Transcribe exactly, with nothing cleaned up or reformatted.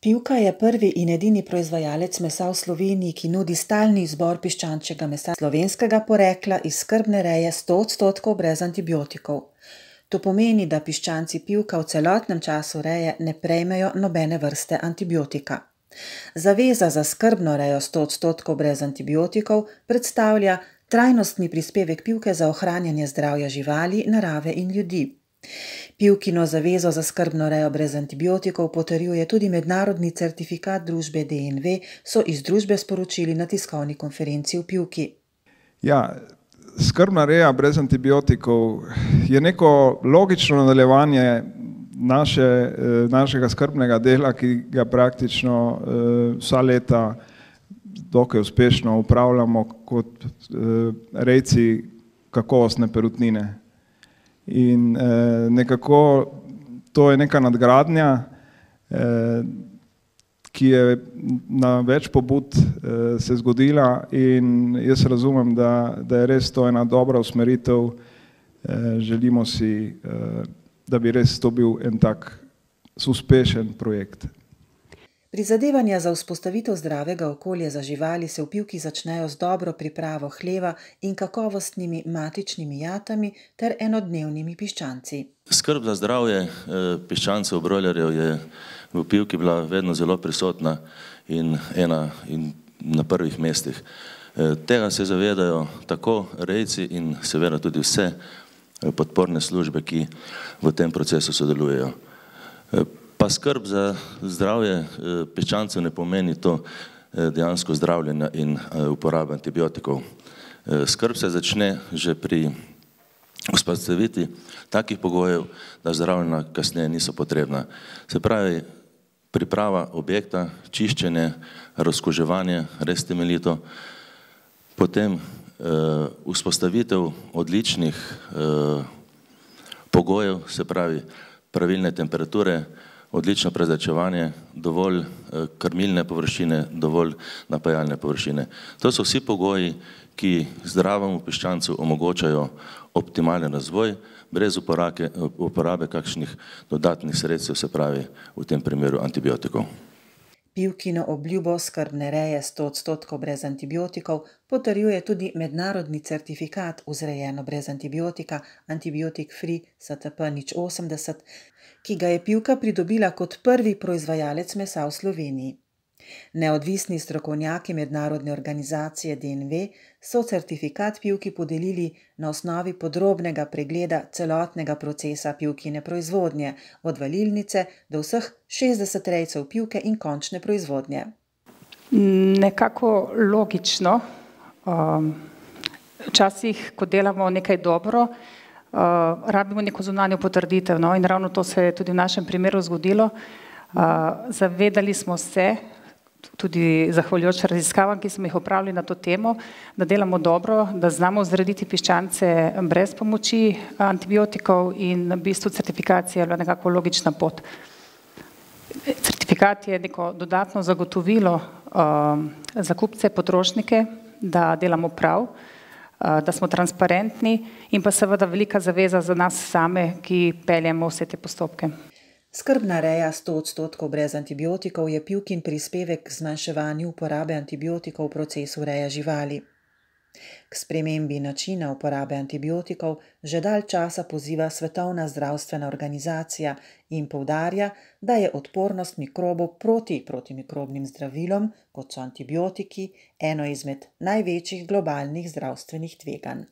Pivka je prvi in edini proizvajalec mesa v Sloveniji, ki nudi stalni izbor piščančjega mesa slovenskega porekla iz skrbne reje sto odstotkov brez antibiotikov. To pomeni, da piščanci Pivka v celotnem času reje ne prejmejo nobene vrste antibiotika. Zaveza za skrbno rejo sto odstotkov brez antibiotikov predstavlja trajnostni prispevek Pivke za ohranjanje zdravja živali, narave in ljudi. Pivkino zavezo za skrbno rejo brez antibiotikov potrjuje tudi mednarodni certifikat družbe D N V, so iz družbe sporočili na tiskovni konferenci v Pivki. Ja, skrbna reja brez antibiotikov je neko logično nadaljevanje naše, našega skrbnega dela, ki ga praktično vsa leta dokaj uspešno upravljamo kot rejci kakovostne perutnine. In eh, nekako to je neka nadgradnja, eh, ki je na več pobud eh, se zgodila in jaz razumem, da, da je res to ena dobra usmeritev. Eh, želimo si, eh, da bi res to bil en tak uspešen projekt. Prizadevanja za vzpostavitev zdravega okolja za živali se v Pivki začnejo z dobro pripravo hleva in kakovostnimi matičnimi jatami ter enodnevnimi piščanci. Skrb za zdravje piščancev brojlerjev je v Pivki bila vedno zelo prisotna in ena in na prvih mestih. Tega se zavedajo tako rejci in seveda tudi vse podporne službe, ki v tem procesu sodelujejo. Pa skrb za zdravje piščancev ne pomeni to dejansko zdravljenja in uporabe antibiotikov. Skrb se začne že pri vzpostavitvi takih pogojev, da zdravljenja kasneje niso potrebna. Se pravi, priprava objekta, čiščenje, razkuževanje, res temeljito, potem vzpostavitev odličnih pogojev, se pravi pravilne temperature, odlično prezračevanje, dovolj krmilne površine, dovolj napajalne površine. To so vsi pogoji, ki zdravemu piščancu omogočajo optimalen razvoj, brez uporabe, uporabe kakšnih dodatnih sredstev, se pravi v tem primeru antibiotikov. Pivkino obljubo skrbne reje sto odstotkov brez antibiotikov potrjuje tudi mednarodni certifikat vzrejeno brez antibiotika Antibiotic Free S T P nič osemdeset, ki ga je Pivka pridobila kot prvi proizvajalec mesa v Sloveniji. Neodvisni strokovnjaki mednarodne organizacije D N V so certifikat Pivki podelili na osnovi podrobnega pregleda celotnega procesa Pivkine proizvodnje, od valilnice do vseh šestdeset rejcev Pivke in končne proizvodnje. Nekako logično. Včasih, ko delamo nekaj dobro, rabimo neko zunanjo potrditev, no, in ravno to se je tudi v našem primeru zgodilo. Zavedali smo se, tudi zahvaljujoč raziskavam, ki smo jih opravili na to temo, da delamo dobro, da znamo vzrediti piščance brez pomoči antibiotikov in v bistvu certifikacija je bila nekako logična pot. Certifikat je neko dodatno zagotovilo za kupce, potrošnike, da delamo prav, da smo transparentni in pa seveda velika zaveza za nas same, ki peljemo vse te postopke. Skrbna reja sto odstotkov brez antibiotikov je Pivkin prispevek k zmanjševanju uporabe antibiotikov v procesu reje živali. K spremembi načina uporabe antibiotikov že dalj časa poziva Svetovna zdravstvena organizacija in poudarja, da je odpornost mikrobov proti protimikrobnim zdravilom, kot so antibiotiki, eno izmed največjih globalnih zdravstvenih tveganj.